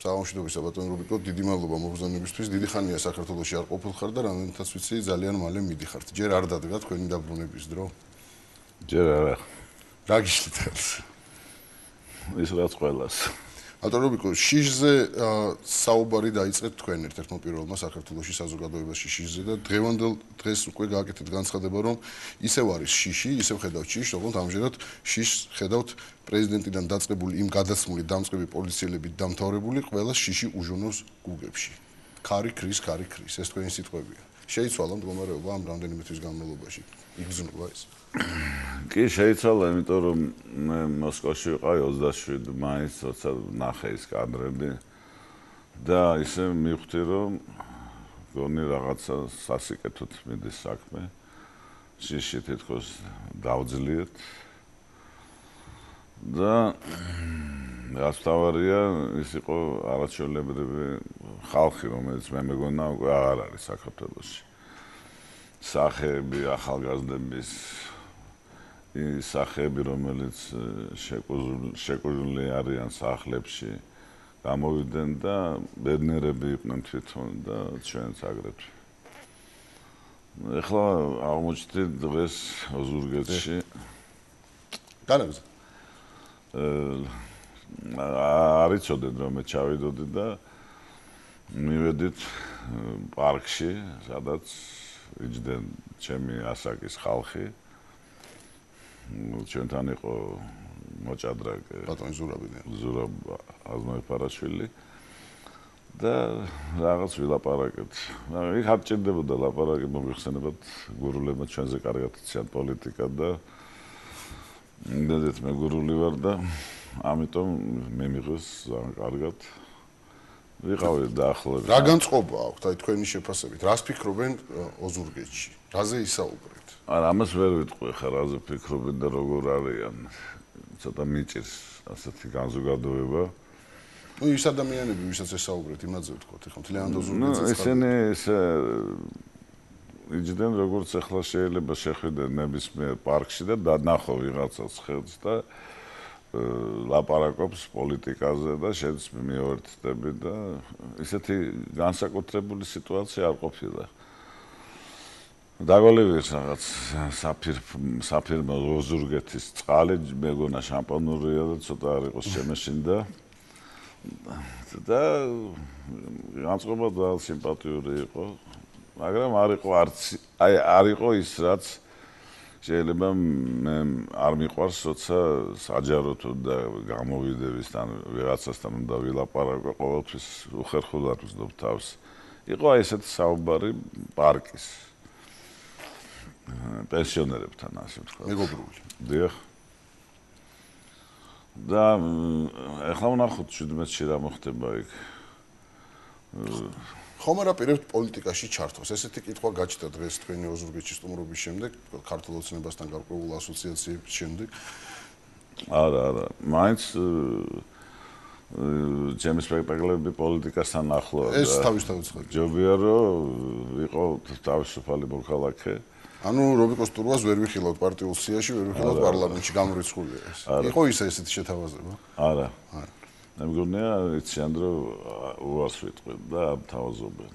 საღამოშიდობისა ბატონ რუბიკო, დიდი მადლობა მოგზაურობისთვის. დიდი ხანია საქართველოში არ ყოფილხარ და რამდენადაც ვიცი, ძალიან მალე მიდიხართ. ჯერ არ დადგა თქვენი დაბრუნების დრო? ჯერ არა. რა გიშლით ხელს? ის რაც ყველას. ბატონ რუბიკო, შიშზე საუბარი დაიწყეთ თქვენ ერთ-ერთმა პირველმა საქართველოში საზოგადოებაში შიშზე და დღევანდელ დღეს უკვე გააკეთეთ განცხადება, რომ ისევ არის შიში, ისევ ხედავთ შიშს, როგორც ამჟამად შიშს ხედავთ პრეზიდენტიდან დაწყებული იმ გადაცმული დამწყები პოლიციელებით დამთავრებული ყველა შიში უჟონოს გუგებში. ქარი ქრის, ეს თქვენი სიტყვებია. შეიცვალა მდგომარეობა ამ რამდენიმე თვის განმავლობაში. იგრძნობა ეს? კი, შეიცვალა, იმიტომ რომ მე მოსკოვში ვიყავი 27 მაისს, როცა ნახე ის კადრები და ისე მივხვდი, რომ გონი რაღაცა სასიკეთოდ მიდის საქმე. შიში თითქოს დავძლიეთ და რაც თავარია, ის იყო არაჩვეულებრივი ხალხი, რომელიც მე მეგონა უკვე აღარ არის საქართველოში. სახეები, ახალგაზრდების ის სახეები, რომელიც შეკუზული არიან სახლებში, გამოვიდნენ და ბედნიერები იყვნენ თვითონ და ჩვენც აგრეთვე. ეხლა აღმოჩნდით დღეს ოზურგეთში. განაგზა. არ იცოდეთ რომ მე ჩავიდოდი და მივედით პარკში, სადაც იჯდნენ ჩემი ასაკის ხალხი. ჩვენთან იყო მოჭადრაკ ბატონი ზურაბ აზმაიფარაშვილი და რაღაც ვილაპარაკეთ. იქ არ ჭირდებოდა ლაპარაკი, მოიხსენებათ გურულებმა ჩვენზე კარგად იციან პოლიტიკა და იმდენად მე გურული ვარ და ამიტომ მე მიიღეს ძალიან კარგად. ვიყავი დაახლოებით. რა განწყობა აქვთ აი თქვენი შეფასებით? რას ფიქრობენ ოზურგეთში? რაზე ისაუბრეთ? არა, ამას ვერ ვიტყვი ხა რაზე ფიქრობენ და როგორ არიან. ცოტა მიჭირს ასეთი განზოგადოება. ნუ ის ადამიანები, ვისაც ესაუბრეთ, იმაზე ვთქვათ, ეხლა მთლიანად ოზურგეთზე. ესენი იჯდნენ როგორც ახლა შეიძლება შეხვიდეთ ნებისმიერ პარკში და დანახო ვიღაცას ხელს და ლაპარაკობს პოლიტიკაზე და შენც მიუერთდები და ისეთი განსაკუთრებული სიტუაცია არ ყოფილა. დაგოლივეს რაღაც საფირმო ოზურგეთის წყალი მეგონა შამპანურია და ცოტა არ იყოს შემეშინდა და განწყობა ძალიან სიმპათიური იყო, მაგრამ არ იყო ის რაც შეიძლება მე არ მიყვარს, როცა საჯაროდ და გამოვიდევისთან ვიღაცასთან უნდა ვილაპარაკო, ყოველთვის უხერხულად ვზნობ თავს. იყო აი ესეთი საუბარი პარკის პენსიონერებთან, ასე ვთქვათ. მეგობრული. დიახ. და ეხლა ვნახოთ 17-ში რა მოხდება იქ. ხომ არ აპირებთ პოლიტიკაში ჩართვას? ესეთი კითხვა გაჩნდა დღეს თქვენი ოზურგეთში სტუმრობის შემდეგ, ქართულ ოცნებასთან გარკვეულ ასოციაციების შემდეგ. არა. მაინც ჩემი სპექტაკლები პოლიტიკასთან ახლოა. ეს თავისთავად ცხადია. ჯობია რომ იყო თავისუფალი მოქალაქე. ანუ რობიკოს ტურვას ვერ ვიხილავთ პარტიულ სიაში, ვერ ვიხილავთ პარლამენტში, გამორიცხულია ეს. იყო ესეთი შეთავაზება? არა. მე მგონია იციან რომ უარს ვიტყვით და ამთავაზობენ.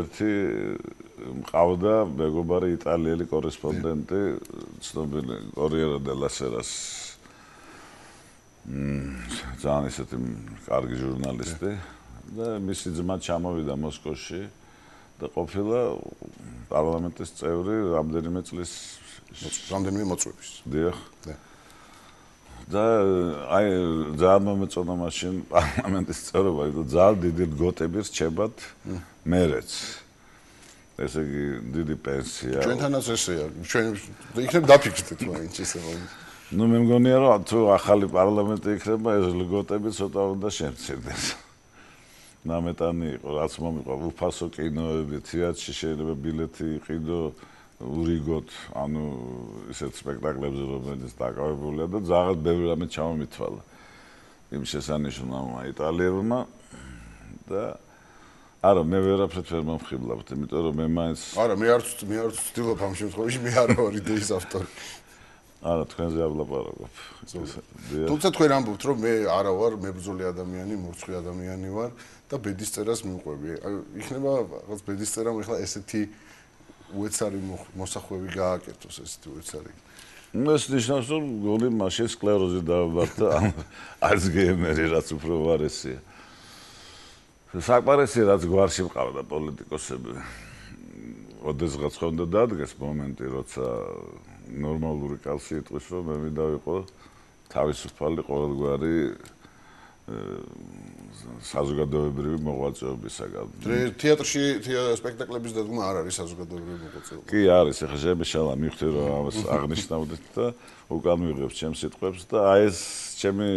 ერთი მყავდა მეგობარი იტალიელი კორესპონდენტი, ცნობილი კორიერო დელა სერას ძალიან ისეთი კარგი ჟურნალისტი და მისი ძმა ჩამოვიდა მოსკოვში და ყოფილა პარლამენტის წევრი რამდენიმე წლის მოწვევის. დიახ. და აი ძალიან მომეწონა მაშინ პარლამენტის წევრობა, იმიტომ ძალიან დიდი ლგოტები რჩებათ მერეც. ესე იგი დიდი პენსია. ჩვენთანაც ესეა. ჩვენ იქნებ დაფიქრდეთ მაინც ისე რომ. ნუ მე მგონია რომ თუ ახალი პარლამენტი იქნება, ეს ლგოტები ცოტა უნდა შემცირდეს. ნამეტანი იყო, რაც მომიყვა უფასო კინოები, თეატრში შეიძლება ბილეთი იყიდო ურიგოთ, ანუ ისეთ სპექტაკლებზე, რომელიც დაკავებულია და ძალიან ბევრი რამე ჩამომითვალა. იმ შესანიშნავმა იტალიელმა და არა, მე ვერაფრით ვერ მომხიბლავთ, იმიტომ რომ მე მაინც არა, მე არ ვცდილობ ამ შემთხვევაში, მე არ ვარ იდეის ავტორი. არა, თქვენზე არ ვლაპარაკობ. თუმცა თქვენ ამბობთ, რომ მე არა ვარ მებრძოლი ადამიანი, მურცხვი ადამიანი ვარ და ბედისწერას მივყვები. იქნება რაღაც ბედისწერამ ახლა ესეთი უეცარი მოსახვევი გააკეთოს, ესეთი უეცარი. ეს ნიშნავს, რომ გული მაშინ სკლეროზი დავაბართ და ალცგეიმერი რაც უფრო ვარესია. საკმარისია, რაც გვარში მყავდა პოლიტიკოსები. ოდესღაც ხონდა დადგეს მომენტი, როცა ნორმალური კაცი იტყვის, რომ მე მინდა ვიყო თავისუფალი ყოველგვარი საზოგადოებრივი მოღვაწეობისაგან. თეატრში სპექტაკლების დადგმა არ არის საზოგადოებრივი მოღვაწეობა. კი არის, ახლა შემეშალა მივხვდი, რომ ამას აღნიშნავდით და უკან მივიღებ ჩემს სიტყვებს და აი ეს ჩემი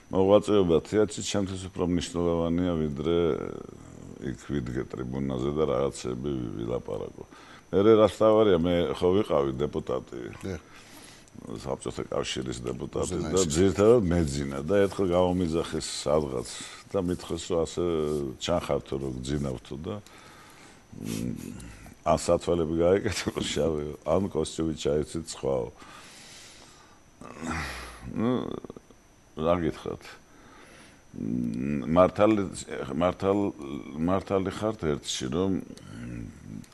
მოღვაწეობა თეატრში ჩემთვის უფრო მნიშვნელოვანია, ვიდრე იქ ვიდგე ტრიბუნაზე და რაღაცები ვილაპარაკო. მე რაც თავარია, მე ხო ვიყავი დეპუტატი. საბჭოთა კავშირის დეპუტატი და ძირითადად მეძინა და ერთხელ გამომიძახეს სადღაც და მითხეს, რომ ასე ჩანხართო, რომ გძინავთო და ან სათვალები გაეკეთო შავი, ან კოსტიუმი ჩაიცით სხვაო. რა გითხრათ? მართალი ხართ ერთში, რომ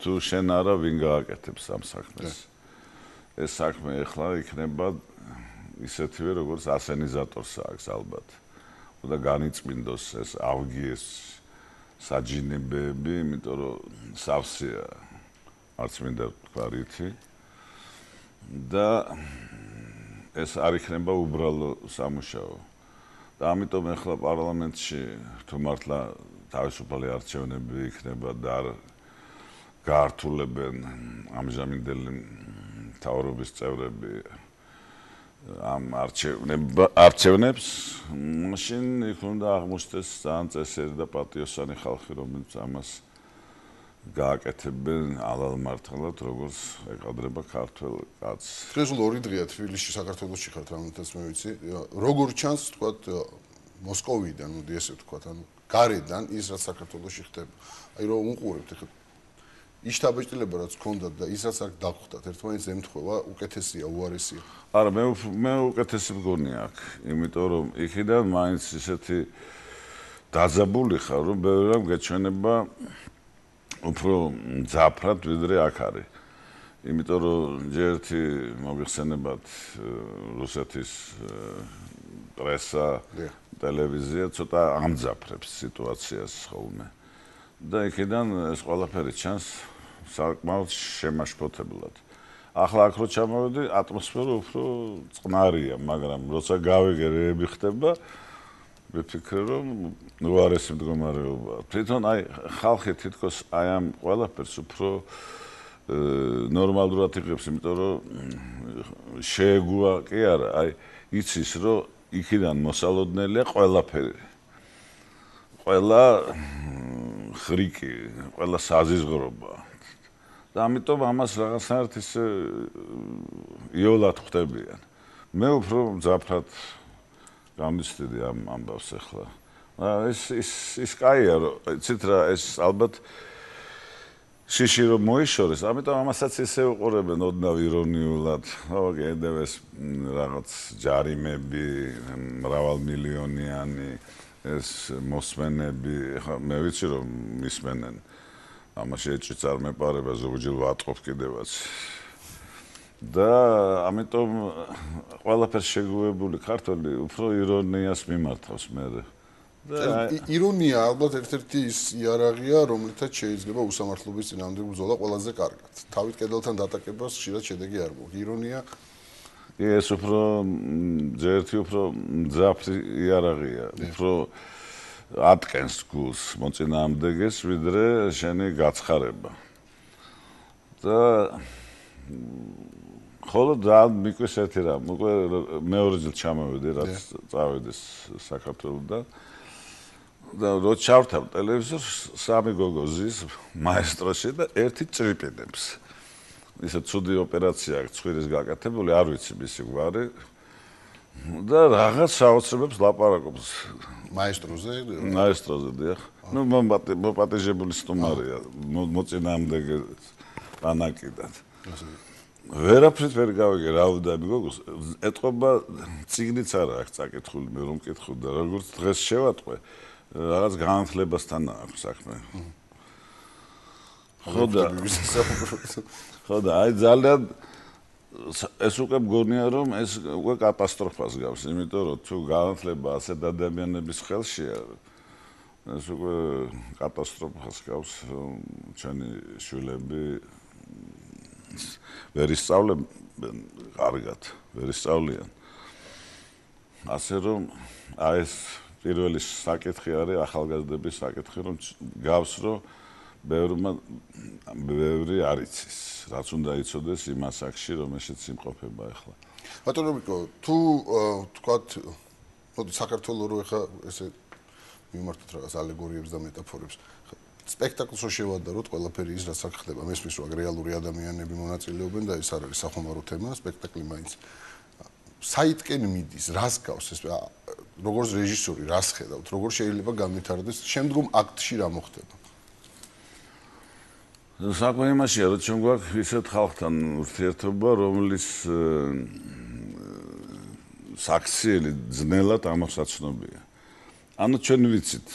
თუ შენ არა ვინ გააკეთებს ამ საქმეს. ეს საქმე ახლა იქნება ისეთივე, როგორც ასენიზატორს აქვს ალბათ. და განიწმინდოს ეს ავგიეს საჯინებები, იმიტომ რომ სავსეა არც მინდა თქვა რითი. და ეს არ იქნება უბრალო სამუშაო. და ამიტომ ახლა პარლამენტში თუ მართლა თავისუფალი არჩევნები იქნება და არ გაართულებენ ამჟამინდელი მთავრობის წევრები ამ არჩევნებს, მაშინ იქ უნდა აღმოჩნდეს ძალიან წესიერი და პატიოსანი ხალხი, რომელიც ამას გააკეთებენ ალალ-მართალად, როგორც ეყადრება ქართველ კაცს. დღეს ორი დღეა თბილისში, საქართველოში ხართ, რამეთაც მე ვიცი. როგორ ჩანს, თქვათ, მოსკოვიდან, მოდი ესე ვთქვათ, ანუ გარედან ის რაც საქართველოში ხდება. აი რომ უყურებთ ახლა იშთაბეჭდილება რაც გქონდათ და ის რაც აქ დაგხვდათ, ერთმანეთს ემთხვევა, უკეთესია, უარესია. არა, მე უკეთესი მგონი აქ, იმიტომ რომ იქიდან მაინც ისეთი დაძაბული ხარ, რომ ბევრი რამ გეჩვენება უფრო მძაფრად, ვიდრე აქ არის. იმიტომ რომ ჯერ ერთი მოგიხსენებათ რუსეთის პრესა, ტელევიზია ცოტა ამძაფრებს სიტუაციას ხოლმე. და იქიდან ეს ყველაფერი ჩანს საკმაოდ შემაშფოთებლად. ახლა აქ რო ჩამოვედი, ატმოსფერო უფრო წყნარია, მაგრამ როცა გავიგე რეები ხდება, ვიფიქრე, რომ უარესი მდგომარეობა. თვითონ აი ხალხი თითქოს აი ამ ყველაფერს უფრო ნორმალურად იღებს, იმიტომ რომ შეეგუა კი არა, აი იცის, რომ იქიდან მოსალოდნელია ყველაფერი. ყველა ხრიკი, ყველა საზიზღრობა. და ამიტომ ამას რაღაცნაირად ისე იოლად ხვდებიან. მე უფრო მძაფრად გამიცდიდი ამ ამბავს ახლა. ის კაია, რომ იცით რა, ეს ალბათ შიში რომ მოიშორეს, ამიტომ ამასაც ისე უყურებენ ოდნავ ირონიულად. კიდევ ეს რაღაც ჯარიმები, მრავალმილიონიანი ეს მოსმენები, ხა მე ვიცი რომ მისმენენ. ამაში ეჭვიც არ მეპარება, ზოგჯერ ვატყობ კიდევაც. და ამიტომ ყველაფერს შეგუებული ქართველი უფრო ირონიას მიმართავს მე. ირონია ალბათ ერთ-ერთი ის იარაღია, რომლითაც შეიძლება უსამართლობის წინააღმდეგ ბრძოლა ყველაზე კარგად. თავით კედელთან დატაკებას ხშირად შედეგი არ მოაქვს. ირონია ეს უფრო ერთი უფრო მძაფრი იარაღია, უფრო ატკენს გულს მოწინააღმდეგეს, ვიდრე შენი გაცხარება. და ხოლო ძალიან მიკვეს ერთი რამ, უკვე მეორე დილ ჩამოვედი, რაც წავედი საქართველოსდან. და რო ჩავთავ ტელევიზორს, სამი გოგო ზის მაესტროში და ერთი ჭრიპინებს. ისე ცუდი ოპერაცია აქვს ცხვირის გაკეთებული, არ ვიცი მისი გვარი. და რაღაც საოცრებებს ლაპარაკობს მაესტროზე, დიახ. ნუ მოპატიჟებული სტუმარია, მოწინააღმდეგე ანაკიდან. ვერაფრით ვერ გავიგე რა ვდები გოგოს ეთყობა წიგნიც არა აქვს წაკითხული მე რომ მკითხო და როგორც დღეს შევატყვე რაღაც განათლებასთან აქვს საქმე ხო და აი ძალიან ეს უკვე მგონია რომ ეს უკვე კატასტროფას გავს იმიტომ რომ თუ განათლება ასეთ ადამიანების ხელშია ეს უკვე კატასტროფას გავს რომ ჩვენი შვილები ვერ ისწავლენ კარგად, ვერ ისწავლიან. ასე რომ აი ეს პირველი საკითხი არის ახალგაზრდების საკითხი, რომ გავს რომ ბევრი არ იცის, რაც უნდა იცოდეს იმ ასაკში, რომელშიც იმყოფება ახლა. ბატონო მიკო, თუ თქვათ, მოდი საქართველოს რო ახლა ესე მიმართოთ რაღაც ალეგორიებს და მეტაფორებს. სპექტაკლს რო შევადაროთ, ყველაფერი ის რაც აქ ხდება, მესმის რომ რეალური ადამიანები მონაწილეობენ და ეს არ არის სახომარო თემა, სპექტაკლი მაინც საითკენ მიდის, რას გავს ეს როგორც რეჟისორი, რას ხედავთ, როგორ შეიძლება განვითარდეს შემდგომ აქტში რა მოხდება? საქმე იმაშია, რომ ჩვენ გვაქვს ისეთ ხალხთან ურთიერთობა, რომლის საქციელი ძნელად ამოსაცნობია. ანუ ჩვენ ვიცით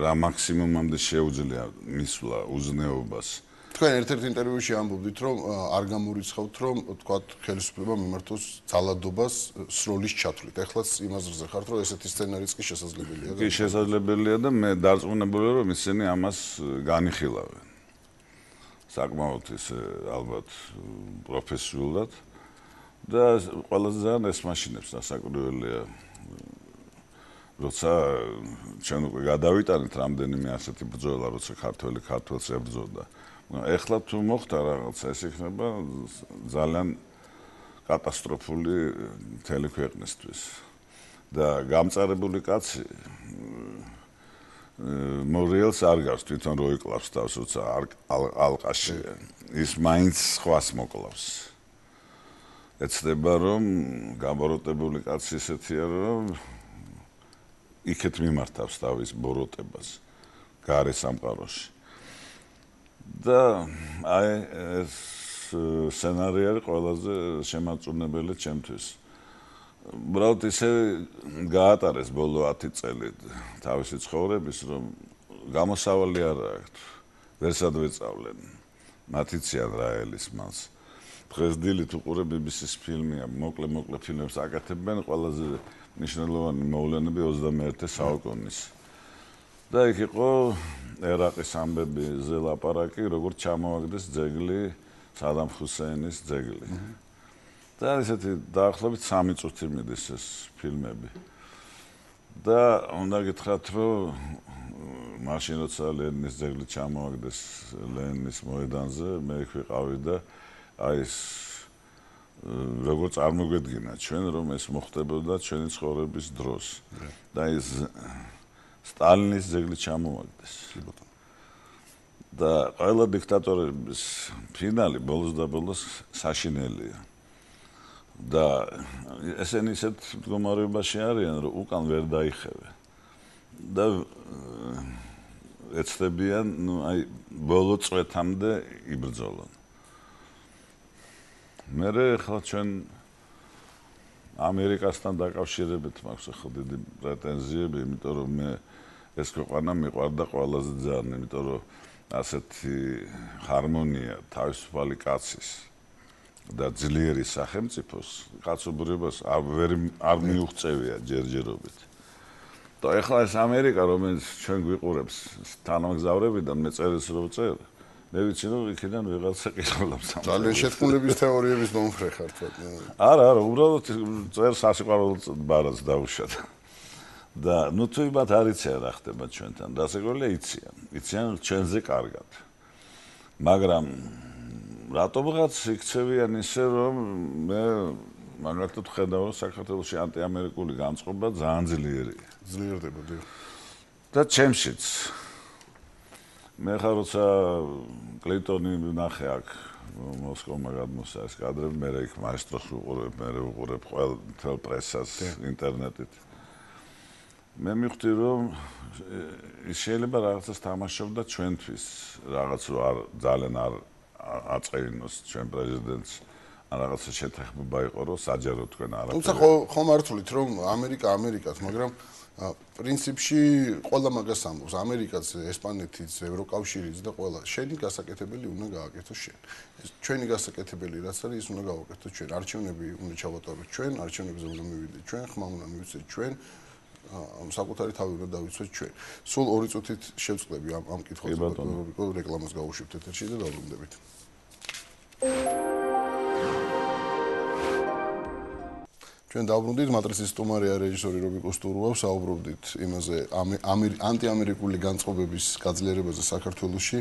რა მაქსიმუმამდე შეუძლია მისვლა უზნეობას. თქვენ ერთ-ერთ ინტერვიუში ამბობდით, რომ არ გამორიცხავთ, რომ თქვათ ხელისუფლება მიმართოს ძალადობას სროლის ჩათვლით. ეხლაც იმაზრზე ხართ, რომ ესეთი სცენარიც კი შესაძლებელია. კი შესაძლებელია და მე დარწმუნებულია, რომ ისინი ამას განიხილავენ. საკმაოდ ისე ალბათ პროფესიულად და ყველაზე ძალიან ეს მაშინებს დასაკვირველია. როცა ჩვენ უკვე გადავიტანეთ რამდენიმე ასეთი ბრძოლა, როცა ქართველი ქართველს ებრძოდა. ეხლა თუ მოხდა რაღაცა, ეს იქნება ძალიან კატასტროფული მთელი ქვეყნისთვის. და გამწარებული კაცი მორიელს არ გავს თვითონ რო იკლავს თავს, როცა ალყაში. ის მაინც სხვას მოკლავს. ეცდება რომ გამოროტებული კაცი ისეთია, რომ იქეთ მიმართავს თავის ბოროტებას გარე სამყაროში. და აი ეს სცენარი არის ყველაზე შემაწუნებელი ჩემთვის. უბრალოდ ისე გაატარეს ბოლო 10 წელი თავისი ცხოვრების, რომ გამოსავალი არ აქვს. ვერსად ვეწავლენ. მათიციან რაელის მას. დღეს დილით უყურე BBC-ს ფილმია, მოკლე ფილმებს აკეთებენ ყველაზე ნიშნულოვანი მოვლენები 21 საუკუნის. და იქ იყო ერაყის ამბებზე ლაპარაკი, როგორც ჩამოვაგდეს ძეგლი, სადამ ჰუსეინის ძეგლი. და ესეთი დაახლოებით 3 წუთი მიდის ეს ფილმები. და უნდა გითხრათ, რომ მაშინ როცა ლენინის ძეგლი ჩამოვაგდეს ლენინის მოედანზე, მე იქ ვიყავი და აი ეს როგორ წარმოგვედგინა ჩვენ რომ ეს მოხდებოდა ჩვენი ცხოვრების დროს და ეს სტალინის ძეგლი ჩამოვაგდეს. და ყველა დიქტატორების ფინალი ბოლოს და ბოლოს საშინელია. და ესენი ისეთ მდგომარეობაში არიან, რომ უკან ვერ დაიხევენ. და ეცდებიან, ну, აი ბოლო წვეთამდე იბრძოლონ. მე ხა ჩვენ ამერიკასთან დაკავშირებით მაქვს ხო დიდი პრეტენზიები, იმიტომ რომ მე ეს ქვეყანა მიყვარდა ყველაზე ძალიან, იმიტომ რომ ასეთი ჰარმონია თავისუფალი კაცის და ძლიერი სახელმწიფოს კაცობრიობას არ მიუღწევია ჯერჯერობით. და ეხლა ეს ამერიკა, რომელიც ჩვენ გვიყურებს თანამგზავრებიდან, მე წერილს რო ვწერ, მე ვიცი რომ იქიდან ვიღაცა ყიდულობს. ძალიან შეთქმულების თეორიების მომხრე ხართ. არა, უბრალოდ წერს სასიყვარულო ბარას დაუშვათ. და ნუ თუ იმათ არ იციან რა ხდება ჩვენთან, დასაკვირველია იციან ჩვენზე კარგად. მაგრამ რატომღაც იქცევიან ისე რომ მე მაგალითად ხედავ რომ საქართველოში ანტიამერიკული განწყობა ძალიან ძლიერია. ძლიერდება დი. და ჩემშიც მე ხარ როცა კლინტონი ნახე აქ მოსკოვმა გადმოსა ეს კადრები, მე იქ მაესტროს ვუყურებ, მე ვუყურებ ყველ პრესას ინტერნეტით. მე მივხვდი რომ ის შეიძლება რაღაცას თამაშობდა ჩვენთვის, რაღაც რო ძალიან არ აწყეინოს ჩვენ პრეზიდენტს რაღაცა შეთანხმება იყო, რომ საჯარო თქვენ არაფერი. თუმცა ხომ არ თulit რომ ამერიკაც, მაგრამ პრინციპში ყველა მაგას ამბობს, ამერიკაც, ესპანეთიც, ევროკავშირიც და ყველა შენი გასაკეთებელი უნდა გააკეთოს შენ. ჩვენი გასაკეთებელი რაც არის, ის უნდა გავაკეთოთ ჩვენ. არჩევნები უნდა ჩავატაროთ ჩვენ, არჩევნებზე უნდა მივიდეთ ჩვენ, ხმა უნდა მივიცეთ ჩვენ. საკუთარი თავი უნდა დავიცვეთ ჩვენ. სულ 2 წუთით შევწყდები ამ კითხვაზე, რობიკო, რეკლამას გავუშვებთ ეთერში და დავბრუნდებით. ჩვენ დავბრუნდით, მატრიცის სტუმარია რეჟისორი რობიკო სტურუა, საუბრობდით იმაზე ანტიამერიკული განწყობების გაძლიერებაზე საქართველოში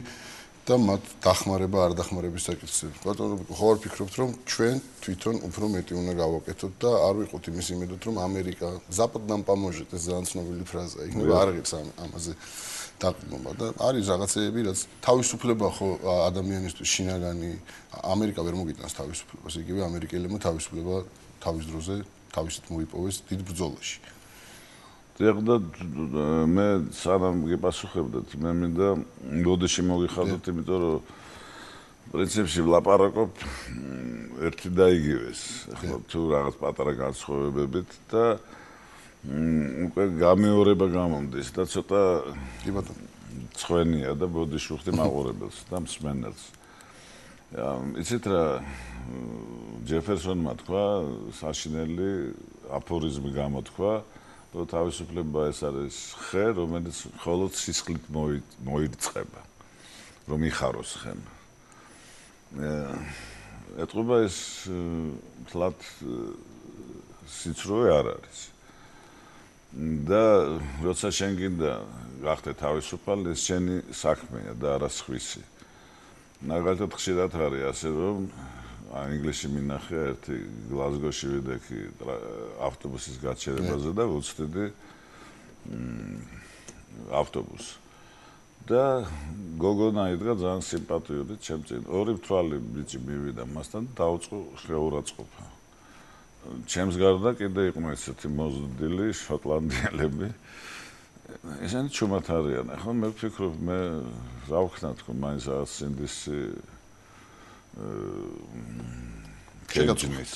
და მათ დახმარება არ დახმარების საკითხზე. ბატონო რობიკო, ხო არ ფიქრობთ, რომ ჩვენ თვითონ უფრო მეტი უნდა გავაკეთოთ და არ ვიყოთ იმის იმედად, რომ ამერიკა Запад нам поможет, ეს ძალიან ცნობილი ფრაზაა. იქნება არ აღებს ამაზე დაყრდნობა და არის რაღაცეები, რაც თავისუფლება ხო ადამიანისთვის შინაგანი ამერიკა ვერ მოგიტანს თავისუფლებას, იგივე ამერიკელებმა თავისუფლება თავის დროზე თავისით მოიპოვეს დიდ ბრძოლაში. და მე სანამ გიპასუხებდეთ, მე მინდა მოდეში მოგიხადოთ, იმიტომ რომ პრინციპში ვლაპარაკობ ერთი და იგივეს. ახლა თუ რაღაც პატარა განსხვავებებით და უკვე გამეორება გამომდის და ცოტა ცხვენია და ბოდიში ვხდი მაყურებელს და მსმენელს. იცით რა ჯეფერსონმა თქვა, საშინელი აფორიზმი გამოთქვა, რომ თავისუფლება ეს არის ხე, რომელიც მხოლოდ სისხლით მოირწყება, რომ იხაროს ხემ. ეთყობა ეს თლად სიცრუე არ არის. და როცა შენ გინდა გახდე თავისუფალი, ეს შენი საქმეა და არა სხვისი. მაგალითად ხშირად არის ასე, რომ ინგლისში მინახე ერთი გლაზგოში ვიდექი ავტობუსის გაჩერებაზე და ვუწვდიდი ავტობუსს. და გოგონა იდგა ძალიან სიმპათიური ჩემ წინ. 2 მთვალი ბიჭი მივიდა მასთან და დაუწყო შეურაცხყოფა. ჩემს გარდა კიდე იყვნენ ესეთი მოზრდილი შოტლანდიელები. ესენი ჩუმად არიან. ახლა მე ვფიქრობ, მე რა ვქნა თქო, მაინც რაღაც სინდისი შეგაწმის.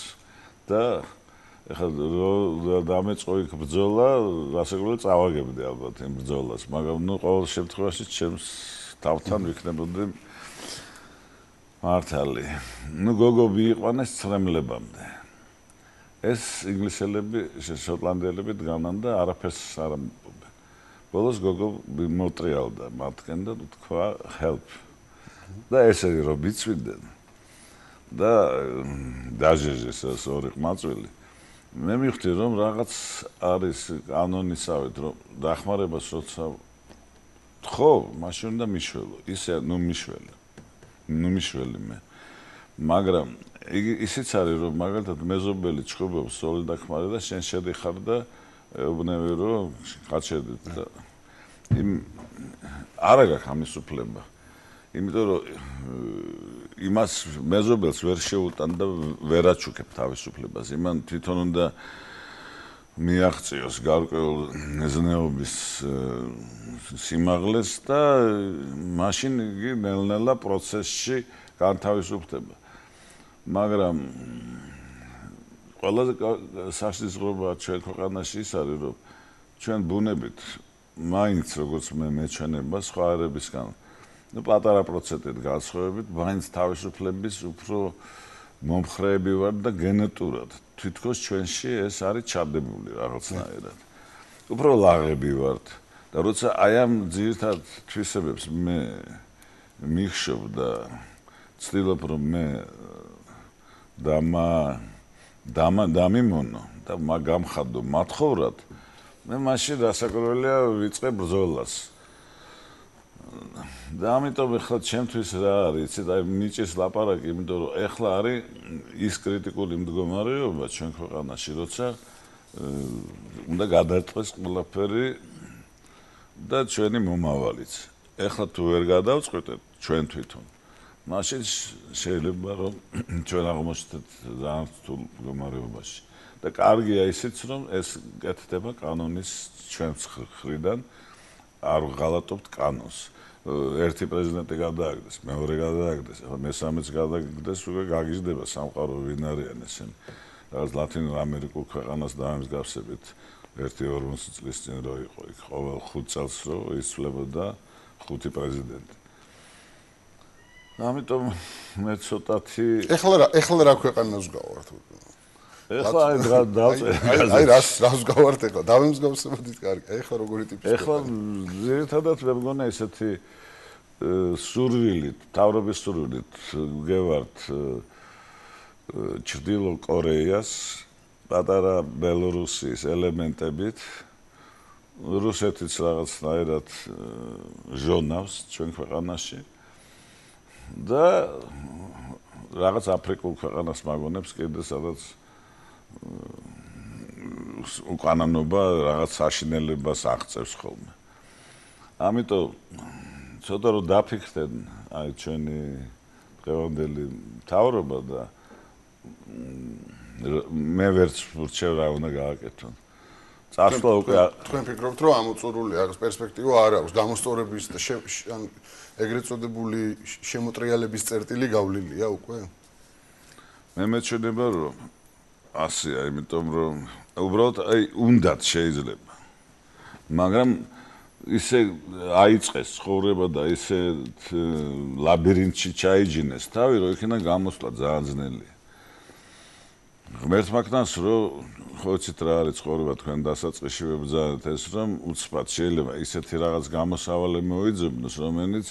და ახლა დამეწყო იქ ბრძოლა, რასაკვირველია წავაგებდი ალბათ იმ ბრძოლას, მაგრამ ნუ ყოველ შემთხვევაში ჩემს თავთან ვიქნებოდი მართალი. ნუ გოგო მიიყვანეს ცრემლებამდე. ეს ინგლისელები, შოტლანდიელები დგანან და არაფერს არ ამბობენ. ბოლოს გოგო მოტრიალდა მათგან და თქვა help. და ესენი რომ მიწვიდნენ და დაჟეჟეს ეს 2 ყმაწვილი. მე მივხვდი რომ რაღაც არის კანონისავით, რომ დახმარებას როცა ხო, მაშინ უნდა მიშველო. ისე ნუ მიშველი მე. მაგრამ ისიც არის რომ მაგალითად მეზობელი ჩხუბობს სოლიდახმარე და შენ შედიხარ და ეუბნები რომ გაჩერდით და არა გაქვს ამის უფლება. იმიტომ რომ იმას მეზობელს ვერ შეუტან და ვერ აჩუქებ თავისუფლებას. იმან თვითონ უნდა მიაღწიოს გარკვეულ ნეზნეობის სიმაღლეს და მაშინ იგი ნელ-ნელა პროცესში განთავისუფლდება. მაგრამ ყველაზე საშიშროება ჩვენ ქვეყანაში ის არის, რომ ჩვენ ბუნებით მაინც როგორც მე მეჩვენება სხვა ერებისგან, ნუ პატარა პროცენტით განსხვავებით, მაინც თავისუფლების უფრო მომხრეები ვართ და გენეტურად თითქოს ჩვენში ეს არის ჩადებული რაღაცნაირად. უფრო ლაღები ვართ და როცა აი ამ ძირითად თვისებებს მე მიხშობ და ცდილობ რომ მე დამიმონო და გამხადო მათხოვრად, მე მაშინ რასაკვირველია ვიწყებ ბრძოლას. და ამიტომ ეხლა ჩემთვის რა არის, იცით, აი ნიჭის ლაპარაკი, იმიტომ რომ ეხლა არის ის კრიტიკული მდგომარეობა ჩვენ ქვეყანაში, როცა უნდა გადაწყდეს ყველაფერი და ჩვენი მომავალიც. ეხლა თუ ვერ გადავწყვეტეთ ჩვენ თვითონ, მაშინ შეიძლება რომ ჩვენ აღმოჩნდეთ ძალიან რთულ მდგომარეობაში. და კარგია ისიც, რომ ეს კეთდება კანონის ჩვენს მხრიდან, არ ვღალატობთ კანონს. ერთი პრეზიდენტი გადააგდეს, მეორე გადააგდეს, ახლა მესამეც გადააგდეს, უკვე გაგიზრდება სამყარო ვინ არიან ესენი. რაღაც ლათინურ ამერიკულ ქვეყანას დაამსგავსებით 1-40 წლის წინ რო იყო იქ ყოველ 5 წელს რო იცვლებოდა 5 პრეზიდენტი. ამიტომ მე ცოტათი ეხლა რა ქვეყანას გავართ? ეხლა აი რას გავართ ეხლა? დავემსგავსებოდით კარგი. ეხლა როგორი ტიპის ეხლა ერთადაც მე მგონა ესეთი სურვილით, თავრობის სურვილით გევართ ჩრდილო კორეას პატარა ბელორუსიის ელემენტებით რუსეთიც რაღაცნაირად ჟონავს ჩვენ ქვეყანაში და რაღაც აფრიკულ ქვეყანას მაგონებს კიდე სადაც უკანონობა რაღაც საშინელებას აღწევს ხოლმე. ამიტომ ცოტა რომ დაფიქრდნენ აი ჩვენი დღევანდელი მთავრობა და მე ვერც ვურჩევ რა უნდა გააკეთონ. წასვლა უკვე თქვენ ფიქრობთ რომ ამოწურული რაღაც პერსპექტივა არ აქვს გამოსწორების და ან ეგრეთ წოდებული შემოტრიალების წერტილი გავლილია უკვე? მე მეჩვენება რომ ასეა, იმიტომ რომ უბრალოდ აი უნდათ შეიძლება. მაგრამ ისე აიწყეს ცხოვრება და ისე ლაბირინთში ჩაიჯინეს თავი, რომ იქიდან გამოსვლა ძალიან ძნელია. ღმერთმა ქნას რომ ხო იცით რა არის ცხოვრება თქვენ დასაწყისში ვებრძანეთ ეს რომ უცბად შეიძლება ისეთი რაღაც გამოსავალი მოიძებნოს რომელიც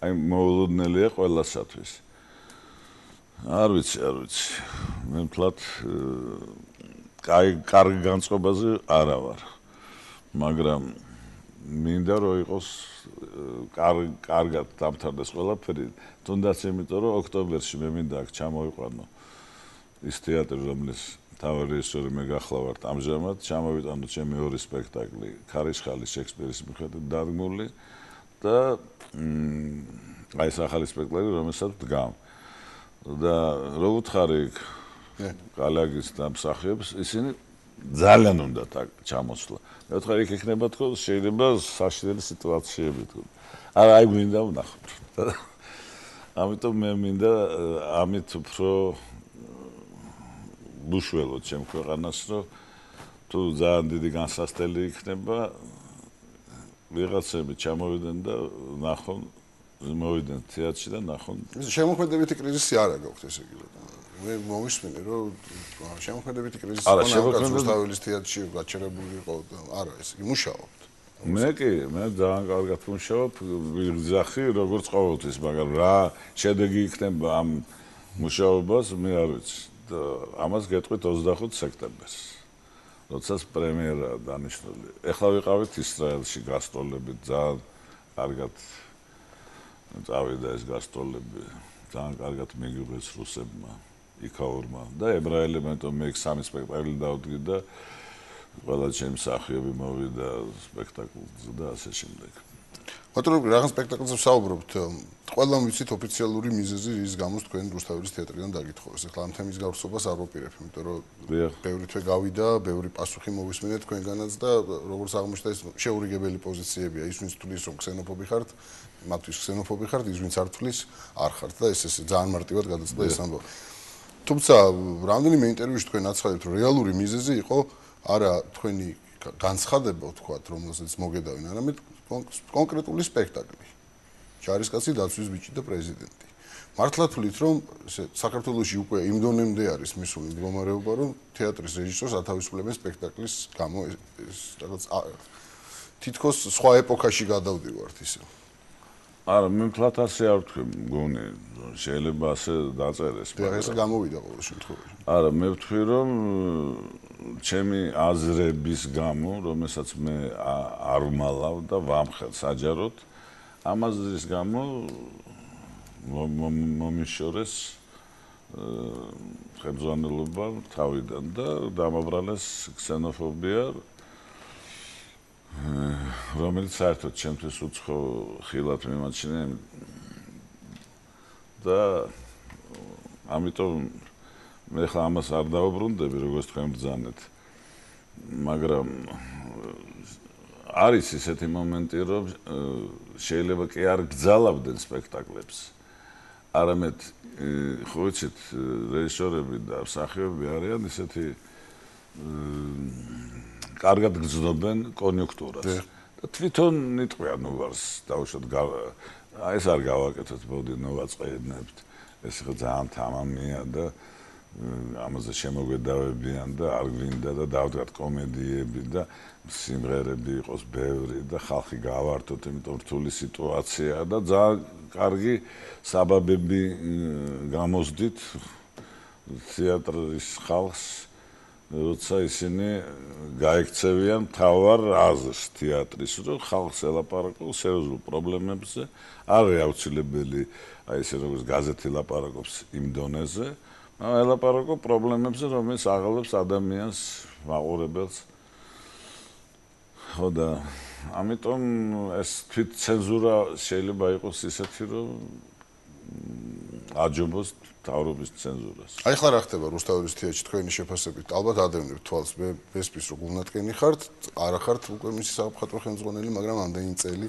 აი მოულოდნელია ყველასათვის. არ ვიცი მე მთლად კარგი განწყობაზე არა ვარ მაგრამ მინდა რომ იყოს კარგად დამთავრდეს ყველაფერი თუნდაც იმიტომ რომ ოქტომბერში მე მინდა აქ ჩამოვიყვანო ის თეატრი რომლის მთავარი რეჟისორი მე გახლავართ ამჟამად ჩამოვიტანო ჩემი ორი სპექტაკლი ქარიშხალის შექსპირის მიხედვით დადგმული და აი ეს ახალი სპექტაკლი რომელსაც დგამ და რო უთხარი კალაგის დამსახიებს ისინი ძალიან უნდა ჩამოსვლა. მე ვთქვი იქ იქნება თქო შეიძლება საშინელი სიტუაციები თქო. არა აი მინდა ვნახოთ. ამიტომ მე მინდა ამით უფრო ბუშველოთ ჩემ ქვეყანას რომ თუ ძალიან დიდი განსასწრელი იქნება ვიღაცები ჩამოვიდნენ და ნახონ მოვიდნენ თეატრში და ნახონ შემოქმედებითი კრიზისი არა გაქვთ ესე იგი მე მომისმინე რომ შემოქმედებითი კრიზისი ხონა რუსთაველის თეატრში გაჩერებული იყო და არა ესე იგი მუშაობთ მე ძალიან კარგად მუშაობ ვიღძახი როგორც ყოველთვის მაგრამ რა შედეგი იქნება ამ მუშაობას მე არ ვიცი და ამას გეტყვით 25 სექტემბერს როდესაც პრემიერაა დანიშნული ეხლა ვიყავით ისრაელში გასტროლებით ძალიან კარგად წავიდა ეს გასტროლები ძალიან კარგად მიგიბრეს რუსებმა იქაურმა და ებრაელებმა მე 3 სპექტაკლი დავდგი და ყველა ჩემი მსახიობი მოვიდა სპექტაკლზე და ასე შემდეგ. ბატონო რაღაც სპექტაკლზე ვსაუბრობთ. ყველა ვიცით ოფიციალური მიზეზი რის გამოც თქვენ რუსთაველის თეატრიდან დაგითხოვეს. ეხლა ამ თემის გავსობას არ ვაპირებ, იმიტომ რომ ბევრი თვე გავიდა, ბევრი პასუხი მოვისმინეთ თქვენგანაც და როგორც აღმოჩნდა ეს შეურიგებელი პოზიციებია. ის ვინც თulis რომ ქსენოფობი ხართ, მათთვის ქსენოფობი ხართ, ის ვინც არ თulis არ ხართ და ეს ძალიან მარტივად გადაწყდა ეს ამბავი. თუმცა რამდენიმე ინტერვიუში თქვენ აცხადებთ, რომ რეალური მიზეზი იყო არა თქვენი განცხადება, ვთქვათ, რომელსაც მოგედავენ, არამედ კონკრეტული სპექტაკლი. ჯარისკაცი დაცვის ბიჭი და პრეზიდენტი. მართლა თვლით, რომ საქართველოში უკვე იმ დონემდე არის მისული მდგომარეობა, რომ თეატრის რეჟისორს ათავისუფლებენ სპექტაკლის გამო ეს რაღაც თითქოს სხვა ეპოქაში გადავდივართ ისე. არა, მე მთლად ასე არ ვთქვი, მგონი, შეიძლება ასე დაწერეს. ეს გამოვიდა ყოველ შემთხვევაში. არა, მე ვთქვი, რომ ჩემი აზრების გამო, რომელსაც მე არ ვმალავ და ვამხელ საჯაროდ, ამ აზრის გამო მომიშორეს ხელმძღვანელობა თავიდან და დამაბრალეს ქსენოფობია რომელიც საერთოდ ჩემთვის უცხო ხილად მიმაჩნია და ამიტომ მე ხა ამას არ დავუბრუნდები როგორც თქვენ ბრძანეთ მაგრამ არის ისეთი მომენტი, რომ შეიძლება კი არ გძალავდნენ სპექტაკლებს. არამედ ხო ვიცით, რეჟისორები და მსახიობები არიან ისეთი კარგად გრძნობენ კონიუნქტურას. და თვითონ იტყვიან ვარს დავუშვათ ეს არ გავაკეთოთ, მოდი ნოვაწყენებთ. ეს ხო ძალიან თამამია და ამაზე შემოგვედავებიან და არ გვინდა და დავდგათ კომედიები და სიმღერები იყოს ბევრი და ხალხი გავართოთ, იმიტომ რთული სიტუაციაა და ძალიან კარგი საბაბები გამოსდით თეატრის ხალხს, როცა ისინი გაიქცევიან მთავარ აზრს თეატრის, რომ ხალხს ელაპარაკოს სერიოზულ პრობლემებზე, არ აუცილებელი აი ესე როგორც გაზეთი ლაპარაკობს იმ დონეზე, ელაპარაკო პრობლემებზე, რომელიც აღელვებს ადამიანს, მაყურებელს. ხო და ამიტომ ეს თვით ცენზურა შეიძლება იყოს ისეთი, რომ აჯობოს თავრობის ცენზურას. აი ხლა რა ხდება რუსთაველის თეატრში თქვენი შეფასებით? ალბათ ადევნებთ თვალს, მე ვესპის რომ გულნათკენი ხართ, არა ხართ უკვე მისი საფხატვრო ხელმძღვანელი, მაგრამ ამდენი წელი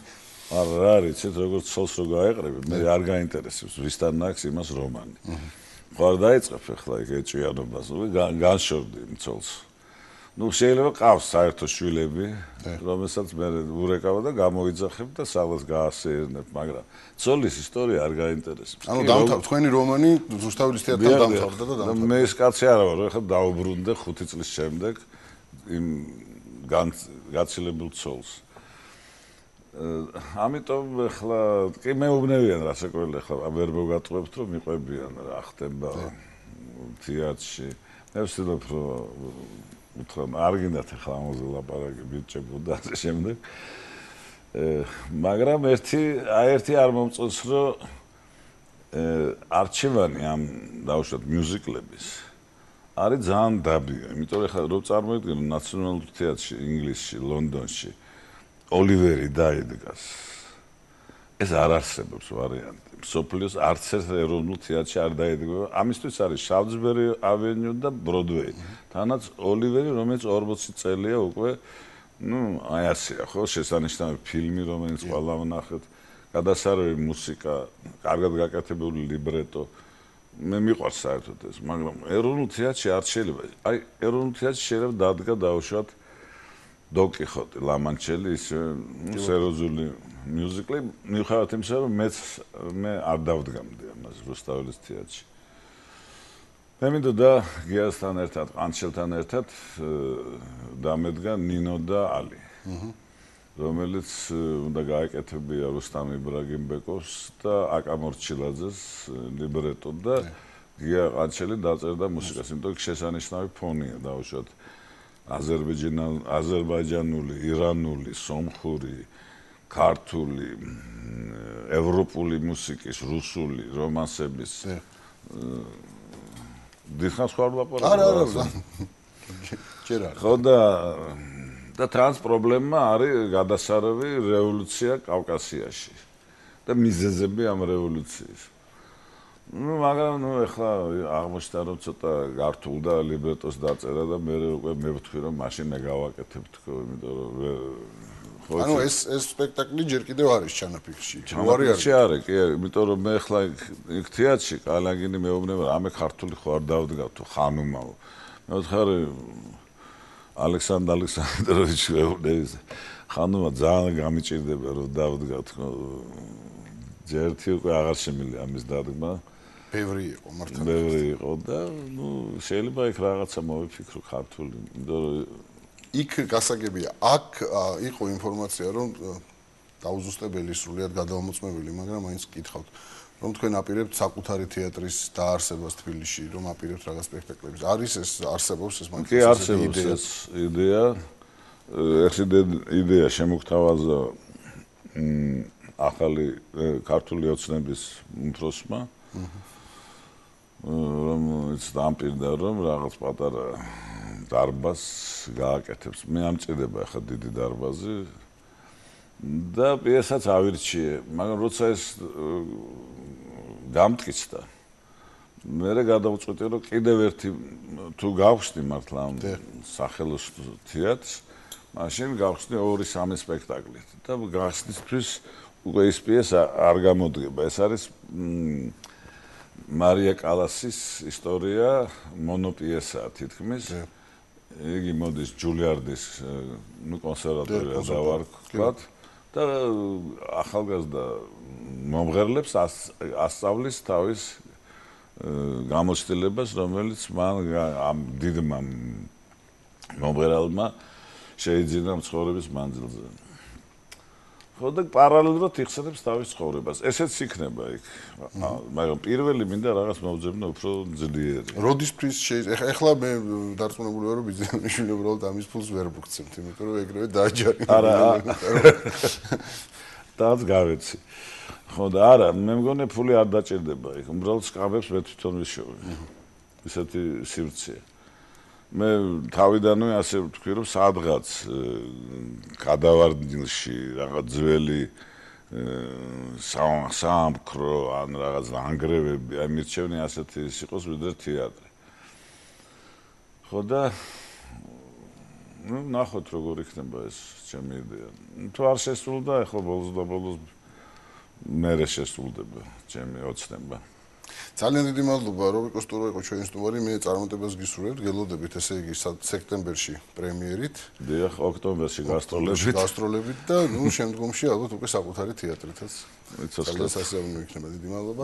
არა, იცით, როგორც ცოლს რო გაეყრები, მე არ გაინტერესებს, ვისთან აქვს იმას რომანი. ხო არ დაიწყებ ახლა ეგ ეჭვიანობას, განშორდი იმ ცოლს. ნუ შეიძლება ყავს საერთო შვილები, რომელსაც მე ურეკავ და გამოიძახებ და სალას გაასეირნებ, მაგრამ ცოლის ისტორია არ გაინტერესებს. ანუ თქვენი რომანი რუსთაველის თეატრთან დამთავრდა და დამთავრდა. მე ეს კაცი არა ვარ, ახლა დაუბრუნდე 5 წლის შემდეგ იმ გაცილებულ ცოლს. ამიტომ ახლა კი მეუბნევიან რასაკვირველია, ახლა ვერ მოგატყუებთ რომ მიყვებიან რა ხდება თეატრში. მე ვცდილობ რომ არ გინდათ ახლა ამაზე ლაპარაკი ბიჭებო და ასე შემდეგ. მაგრამ ერთი არ მომწონს რომ არჩევანი ამ დავუშვათ მიუზიკლების არის ძალიან დაბიო, იმიტომ რომ ახლა რო წარმოიდგინო ნაციონალურ თეატრში, ინგლისში, ლონდონში ოლივერი დაიდგას. ეს არ არსებობს ვარიანტი. სოფლიოს არც ერთ ეროვნულ თეატრში არ დაიდგება. ამისთვის არის შავძბერი ავენიუ და ბროდვეი. თანაც ოლივერი, რომელიც 40 წელია უკვე, აი ასეა, ხო, შესანიშნავი ფილმი, რომელიც ყველა ვნახეთ, გადასარევი მუსიკა, კარგად გაკეთებული ლიბრეტო. მე მიყვარს საერთოდ ეს, მაგრამ ეროვნულ თეატრში არ შეიძლება. აი, ეროვნულ თეატრში შეიძლება დადგა დაუშვათ დოკიხოტი, ლამანჩელი, ისე სერიოზული მიუზიკლი, მიუხედავად იმისა, რომ მე არ დავდგამდი ამას რუსთაველის თეატრში. მე მინდოდა გიასთან ერთად, ყანჩელთან ერთად დამედგა ნინო და ალი, რომელიც უნდა გაეკეთებია რუსტამ იბრაგიმბეკოვს და აკა მორჩილაძეს ლიბრეტო და გია ყანჩელი დაწერდა მუსიკას, იმიტომ რომ შესანიშნავი ფონია დაუშვათ. აზერბაიჯანული, ირანული, სომხური, ქართული, ევროპული მუსიკის, რუსული, რომანსების დიხანს ხარ ლაპარაკობ. არა. ჯერ არა. ხო და ტრანს პრობლემა არის გადასარევი რევოლუცია კავკასიაში და მიზეზები ამ რევოლუციის. მაგრამ ეხლა აღმოჩნდა რომ ცოტა გართულდა ლიბრეტოს დაწერა და მე უკვე მევთქვი რომ მაშინ მე გავაკეთებ თქო, იმიტომ რომ ანუ ეს სპექტაკლი ჯერ კიდევ არის ჩანაფიქრში. ჩანაფიქრში არის, კი, იმიტომ რომ მე ეხლა იქ თეატრში კალაგინი მეუბნება რა მე ქართული ხო არ დავდგავ თუ ხანუმაო. მე ვთქარი ალექსანდრ ალექსანდროვიჩ მეუბნების ხანუმა ძალიან გამიჭირდება რომ დავდგავ თქო. ჯერთი უკვე აღარ შემიძლია ამის დადგმა. ბევრი იყო მართლა. ბევრი იყო და შეიძლება იქ რაღაცა მოვიფიქრო ქართული, იმიტომ რომ იქ გასაგებია, აქ იყო ინფორმაცია, რომ დაუზუსტებელი სრულიად გადაამოწმებელი, მაგრამ მაინც გკითხავთ, რომ თქვენ აპირებთ საკუთარი თეატრის დაარსებას თბილისში, რომ აპირებთ რაღაც სპექტაკლებს. არის ეს არსებობს ეს მაგალითად? კი, არსებობს ეს იდეა. ეს იდეა შემოგთავაზა ახალი ქართული ოცნების უმცროსმა, რომელიც დამპირდა რომ რაღაც პატარა დარბაზს გააკეთებს. მე ამჭირდება ახლა დიდი დარბაზი და პიესაც ავირჩიე, მაგრამ როცა ეს გამტკიცდა, მე გადავწყვიტე რომ კიდევ ერთი თუ გავხსნი მართლა ამ სახელოს თეატრს, მაშინ გავხსნი 2-3 სპექტაკლით და გახსნისთვის უკვე ის პიესა არ გამოდგება. ეს არის მარია კალასის ისტორია, მონოპიესაა თითქმის. იგი მოდის ჯულიარდის კონსერვატორია დავარქვათ და ახალგაზრდა მომღერლებს ასწავლის თავის გამოცდილებას, რომელიც მან ამ დიდმა მომღერალმა შეიძინა ცხოვრების მანძილზე. ხო და პარალელურად იხსენებს თავის ცხოვრებას. ესეც იქნება იქ. მაგრამ პირველი მინდა რაღაც მოვძებნო უფრო ძლიერი. როდის ფრის ეხლა მე დარწმუნებული ვარ რომ ბიზნესმენი უბრალოდ ამის ფულს ვერ მოგცემთ, იმიტომ რომ ეგრევე დააჯარიმ. არა. დააც გავეცი. ხო და არა, მე მგონი ფული არ დაჭირდება იქ. უბრალოდ სკამებს მე თვითონ ვიშოვე. ისეთი სივრცეა. მე თავიდანვე ასე ვთქვი რომ სადღაც გადავარდილში რაღაც ძველი სამკრო ან რაღაც ანგრევები აი მირჩევნი ასეთი ის იყოს ვიდრე თეატრი. ხო და ნუ ნახოთ როგორ იქნება ეს ჩემი იდეა. თუ არ შესრულდა ახლა ბოლოს და ბოლოს მერე შესრულდება ჩემი ოცნება. ძალიან დიდი მადლობა რობი კოსტურო იყო ჩვენი სტუმარი. მე წარმატებას გისურვებთ, გელოდებით ესე იგი სექტემბერში პრემიერით. დიახ, ოქტომბერში გასტროლებით და ნუ შემდგომში ალბათ უკვე საკუთარი თეატრითაც. ძალიან სასიამოვნო იქნება. დიდი მადლობა.